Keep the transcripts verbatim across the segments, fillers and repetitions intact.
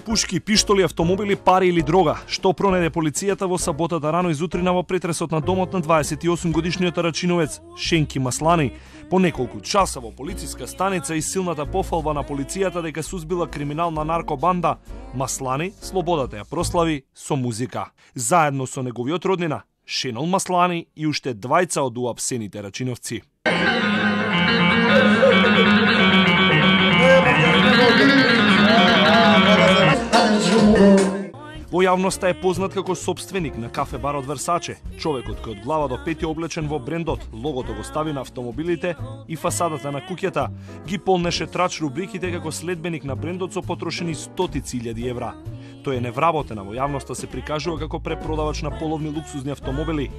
Пушки, пиштоли, автомобили, пари или дрога. Што пронеде полицијата во саботата рано изутрина во претресот на домот на дваесет и осум годишниот рачиновец Шенки Маслани. По неколку часа во полициска станица и силната пофалба на полицијата дека сузбила криминална наркобанда, Маслани слободата ја прослави со музика. Заедно со неговиот роднина, Шенол Маслани и уште двајца од уапсените рачиновци. Во јавноста е познат како сопственик на кафе барот Версаче, човекот кој од глава до пети облечен во брендот, логото го стави на автомобилите и фасадата на куќата, ги полнеше трач рубриките како следбеник на брендот со потрошени стотици илјади евра. Тој е невработен, а во јавноста се прикажува како препродавач на половни луксузни автомобили.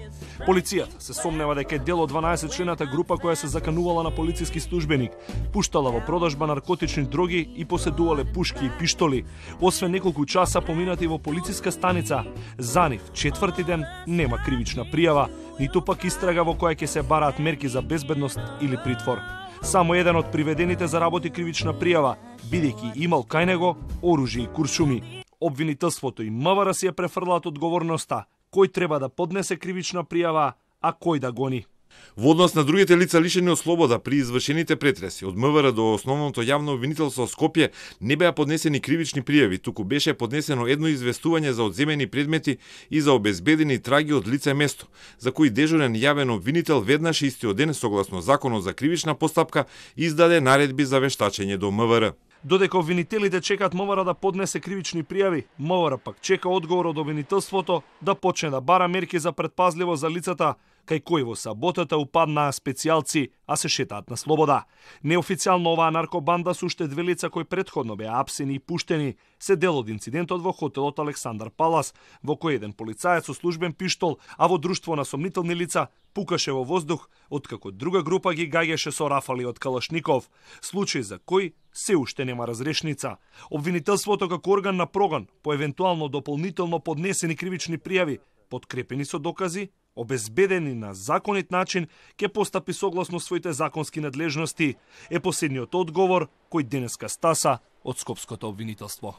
Полицијата се сомнева дека е дел од дванаесет члената група која се заканувала на полициски службеник, пуштала во продажба наркотични дроги и поседувале пушки и пиштоли. Освен неколку часа поминати во полициска станица, за нив четврти ден нема кривична пријава, ниту пак истрага во која ќе се бараат мерки за безбедност или притвор. Само еден од приведените заработи кривична пријава, бидејќи имал кај него оружје и куршуми. Обвинителството и МВР си ја префрлаат одговорноста, кој треба да поднесе кривична пријава, а кој да гони. Во однос на другите лица лишени од слобода при извршените претреси, од МВР до основното јавно обвинителство Скопје не беа поднесени кривични пријави, туку беше поднесено едно известување за одземени предмети и за обезбедени траги од лице место, за кои дежурен јавен обвинител веднаш истиот ден, согласно Законот за кривична постапка, издаде наредби за вештачење до МВР. Додека обвинителите чекаат МВР да поднесе кривични пријави, МВР пак чека одговор од обвинителството да почне да бара мерки за предпазливост за лицата кај кои во саботата упаднаа специјалци, а се шетаат на слобода. Неофицијално оваа наркобанда со уште две лица кои претходно беа апсени и пуштени се дел од инцидентот во хотелот Александар Палас, во кој еден полицаец со службен пиштол, а во друштво на сомнителни лица пукаше во воздух, откако друга група ги гаѓаше со рафали од калашников, случај за кој се уште нема разрешница. Обвинителството како орган на прогон по евентуално дополнително поднесени кривични пријави, подкрепени со докази, обезбедени на законит начин, ќе постапи согласно своите законски надлежности, е последниот одговор кој денеска стаса од скопското обвинителство.